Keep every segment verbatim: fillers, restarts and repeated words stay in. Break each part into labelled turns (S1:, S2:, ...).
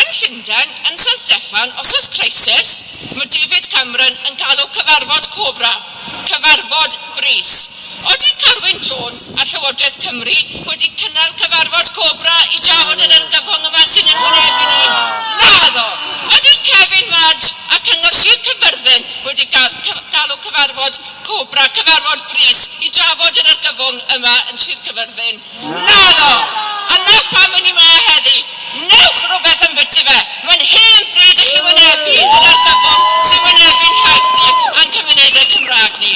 S1: Yn Llundain, yn San Steffan, os oes crisis, mae David Cameron yn galw cyfarfod Cobra, cyfarfod brys. Odi Carwyn Jones a Llywodraeth Cymru wedi cynnal cyfarfod Cobra i drafod yr argyfwng yma sy'n ein wynebu ni? Naddo! Ydy Kevin Madge a Cyngor Sir Caerfyrddin wedi galw cyfarfod Cobra, cyfarfod brys, i drafod yr argyfwng yma yn Sir Caerfyrddin? Naddo! A na pam yn ni 'ma heddi. Newch rhywbeth ambyti fe. Mae'n hen bryd i chi wynebu yr argyfwng sy'n wynebu'n hiaith ni a'n cymunedau Cymraeg ni.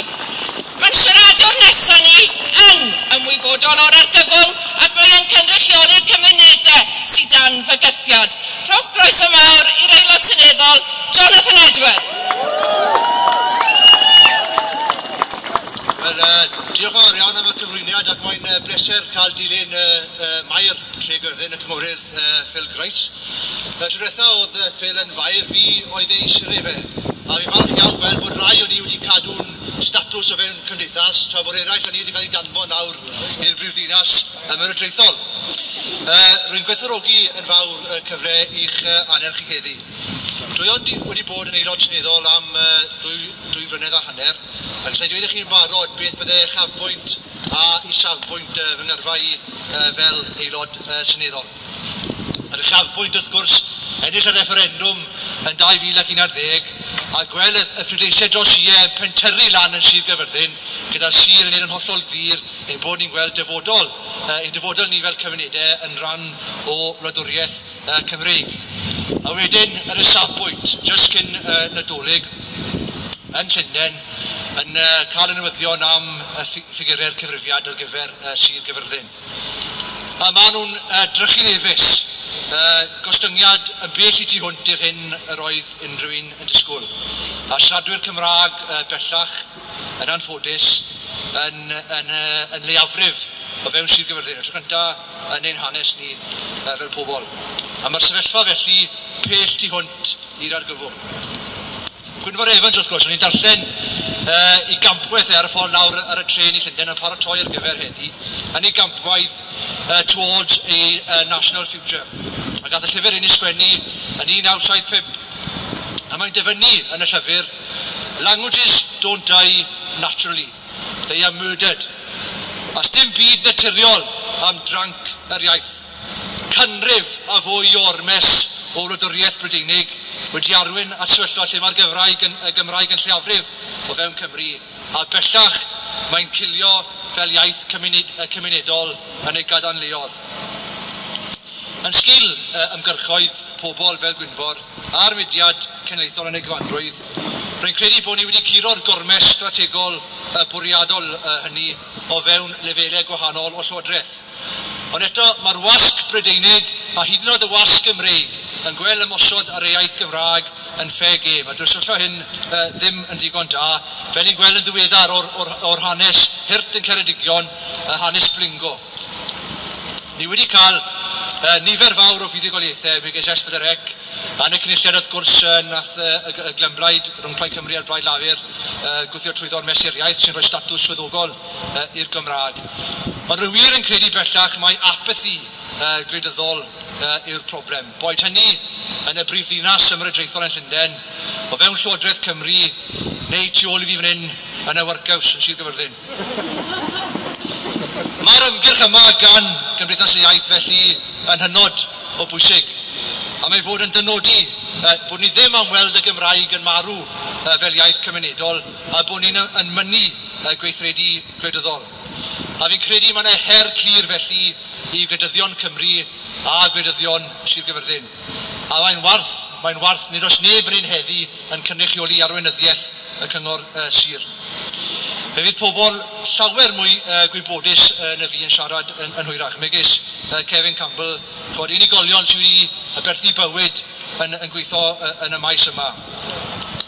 S1: Mae'n siaradwr nesaf ni yn ymwybodol o'r argyfwng ac mae'n cynrychioli cymunedau sydd dan fygythiad. Rhowch groeso mawr i'r Aelod Seneddol, Jonathan Edwards.
S2: Wel, uh, diolch yn fawr iawn am y cyflwyniad ac mae'n uh, bleser cael dilyn uh, uh, Maer Tregaerfyrddin, y cynghorydd uh, Phil Grice. Uh, tro diwetha oedd uh, Phil yn faer, fi oedd ei siryf e. A fi'n falch iawn gweld bod rai o'n i wedi cadw'n statws o fewn cymdeithas, tra bod eraill o'n i wedi cael ei danfon lawr i'r brifddinas ymerodraethol. Uh, rwy'n gwerthfawrogi yn fawr y uh, cyfle i'ch uh, annerch chi heddi. Dwi ond wedi bod yn aelod seneddol am uh, dwy, dwy flynedd a hanner, a gallai dweud i chi'n barod beth bydde uchafbwynt a isafbwynt uh, fy ngyrfa i uh, fel aelod uh, seneddol. Yr uchafbwynt wrth gwrs, ennill y refferendwm yn dau fil ac un ar ddeg a gweld y, y pleidleisiau dros ie yn pentyrru lan yn Sir Gaerfyrddin gyda'r sir yn neud yn hollol glir ein bod ni'n gweld dyfodol, uh, ein dyfodol ni fel cymunedau yn rhan o wladwriaeth uh, Cymreig. A wedyn yr isafbwynt, jyst cyn uh, Nadolig, yn Llundain, yn uh, cael y newyddion am y ffigurau'r cyfrifiad ar gyfer uh, Sir Gaerfyrddin. A maen nhw'n uh, drychinebus, uh, gostyngiad yn bell i tu hwnt i'r hyn yr oedd unrhyw un yn disgwyl. A siaradwyr Cymraeg uh, bellach, yn anffodus, yn, yn, uh, yn leiafrif o fewn Sir Gaerfyrddin, y tro cyntaf yn ein hanes ni uh, fel pobl. A mae'r sefyllfa felly pell tu hwnt i'r argyfwng. Gwynfor Evans, wrth gwrs, o'n i'n darllen uh, i gampwaith e ar y ffordd lawr ar y trên i Llundain yn paratoi ar gyfer heddi, yn ei gampwaith uh, Towards a uh, National Future. A gath y llyfr un ei sgwennu yn un naw saith pump. A mae'n dyfynnu yn y llyfr, "Languages don't die naturally, they are murdered." A sdim byd naturiol am dranc yr iaith. Canrif a fwy o ormes o wladwriaeth Brydeinig wedi arwain at sefyllfa lle mae'r Gymraeg yn, y Gymraeg yn lleiafrif o fewn Cymru, a bellach mae'n cilio fel iaith cymuned, cymunedol yn ei gadarnleodd. Yn sgil uh, ymgyrchoedd pobl fel Gwynfor a'r mudiad cenedlaethol yn ei gyfanrwydd, rwy'n credu bod ni wedi curo'r gormes strategol uh, bwriadol uh, hynny o fewn lefelau gwahanol o llywodraeth. Ond eto, mae'r wasg Brydeinig a hyd yn oed y wasg Gymreig yn gweld ymosod ar y iaith Gymraeg yn fair game. A dyw'r sefyllfa hyn uh, ddim yn ddigon da, fel ni'n gweld yn ddiweddar o'r, or, or hanes hurt yn Ceredigion, uh, hanes Blingo. Ni wedi cael uh, nifer fawr o fuddugoliaethau, megis S pedwar C, a yn y cynulliad wrth gwrs uh, nath uh, y, y glymblaid rhwng Plaid Cymru a'r Blaid Lafur uh, gwthio trwyddo'r mesur iaith sy'n rhoi statws swyddogol uh, i'r Gymraeg. Ond rwy wir yn credu bellach mae apathi uh, gwleidyddol uh, yw'r problem. Boed hynny yn y brifddinas ymerodraethol yn Llundain, o fewn Llywodraeth Cymru, neu tu ôl i fi fan hyn yn y workhouse yn Sir Gaerfyrddin. Mae'r ymgyrch yma gan Gymdeithas y Iaith felly yn hynod o bwysig. A mae fod yn dynodi uh, bod ni ddim am weld y Gymraeg yn marw uh, fel iaith cymunedol a bod ni'n yn mynnu uh, gweithredu gwleidyddol. A fi'n credu mae yna her clir felly i gwleidyddion Cymru a gwleidyddion Sir Gaerfyrddin. A mae'n warth, mae'n warth, nid oes neb yn ein heddi yn cynrychioli arweinyddiaeth y cyngor uh, sir. Fe fydd pobl llawer mwy uh, gwybodus uh, na fi yn siarad yn, yn hwyrach, megis uh, Kevin Campbell, chod unigolion sydd wedi aberthu bywyd yn, yn gweithio uh, yn y maes yma.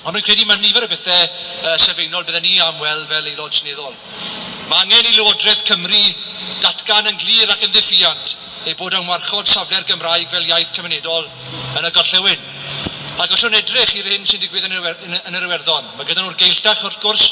S2: Ond rwy'n credu mae nifer o bethau uh, sylfaenol bydden ni am weld fel aelod seneddol. Mae angen i Lywodraeth Cymru datgan yn glir ac yn ddiffuant ei bod yn warchod safle'r Gymraeg fel iaith cymunedol yn y gorllewin. Ac os o'n edrych i'r hyn sy'n digwydd yn yr, yn, yn yr Iwerddon, mae gyda nhw'r Gaeltacht wrth gwrs,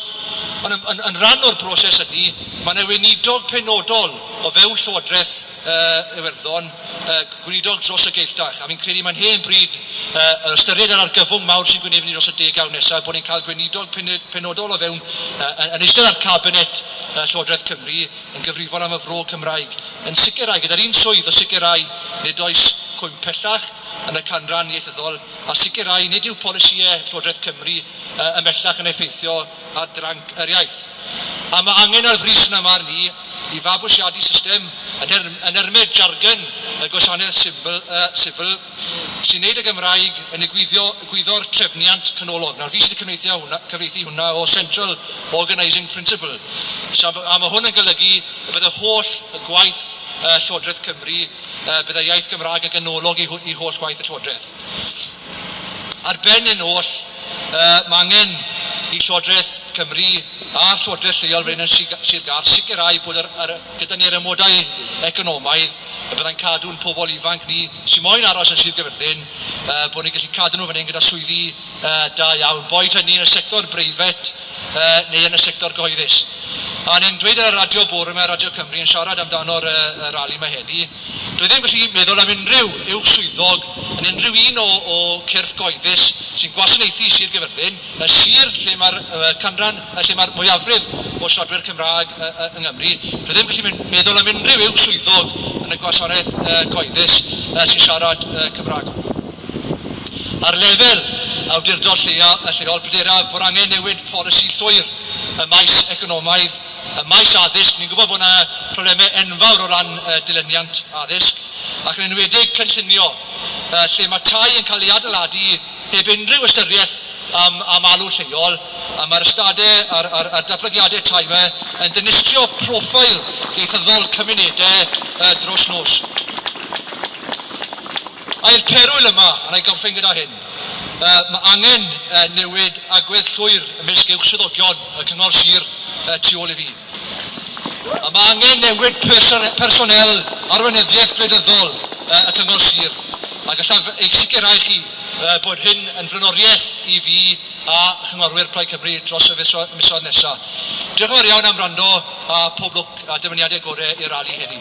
S2: ond yn, yn, yn rhan o'r broses hynny, mae yna weinidog penodol o fewn Llywodraeth uh, Iwerddon uh, gweinidog dros y Gaeltacht, a fi'n credu mae'n hen bryd uh, ystyried yr argyfwng mawr sy'n gwynebu ni dros y degawd nesaf, bod ni'n cael gweinidog penodol o fewn uh, yn eistedd ar cabinet uh, Llywodraeth Cymru yn gyfrifol am y fro Cymraeg, yn sicrhau, gyda'r un swydd o sicrhau nid oes cwymp pellach yn y canran ieithyddol, a sicrhau nid yw polisïau Llywodraeth Cymru uh, ymhellach yn effeithio ar dranc yr iaith. A mae angen ar frys yna marn i i fabwysiadu system yn, er, yn ermed jargon y gwasanaeth sifil, uh, sifil sy'n neud y Gymraeg yn egwyddio, egwyddor trefniant canolog. Nawr fi sydd wedi cyfieithu hwnna, cyfieithu hwnna o Central Organising Principle. So, a mae hwn yn golygu y bydd y holl gwaith uh, Llywodraeth Cymru, uh, bydd y iaith Gymraeg yn ganolog i, i holl gwaith y Llywodraeth. Ar ben yn oll, uh, mae angen i Llywodraeth Cymru a'r Llywodraeth lleol fan hyn yn Sir Gâr sicrhau bod yr, yr, gyda ni'r amodau economaidd y byddai'n cadw'n pobl ifanc ni sy'n moyn aros yn Sir Gaerfyrddin, uh, bod ni'n gallu cadw nhw fan hyn gyda swyddi uh, da iawn, boed hynny yn y sector breifat uh, neu yn y sector gyhoeddus. A ni'n dweud ar y radio bore yma, Radio Cymru, yn siarad amdano'r uh, rali yma heddi, dwi ddim gallu meddwl am unrhyw uwch swyddog yn unrhyw un o, o cyrff gyhoeddus sy'n gwasanaethu Sir Gaerfyrddin, y sir lle mae'r uh, canran, lle mae'r mwyafrif o siaradwyr Cymraeg uh, uh, yng Nghymru, dwi ddim gallu meddwl am unrhyw uwch swyddog yn y gwasanaeth uh, cyhoeddus uh, sy'n siarad uh, Cymraeg. Ar lefel awdurdod lleol, lleol pryderaf bod angen newid polisi llwyr y maes economaidd, y maes addysg. Ni'n gwybod bod yna problemau enfawr o ran uh, dilyniant addysg, ac yn enwedig cynllunio, uh, lle mae tai yn cael ei adeiladu heb unrhyw ystyriaeth am, am alw lleol, a mae'r ystadau a'r, a'r, a'r datblygiadau tai yma yn dinistrio proffil ieithyddol cymunedau uh, dros nos. A i'r perwyl yma, a na i gorffen gyda hyn, uh, mae angen uh, newid agwedd llwyr ymysg uwch swyddogion y Cyngor Sir uh, tu ôl i fi. A mae angen newid personel arweinyddiaeth gwleidyddol uh, y Cyngor Sir. A gallaf eich sicrhau chi uh, bod hyn yn flaenoriaeth i fi a chynghorwyr Plaid Cymru dros y misoedd nesaf. Diolch yn fawr iawn am wrando a pob lwc a dymuniadau gorau i'r rali heddi.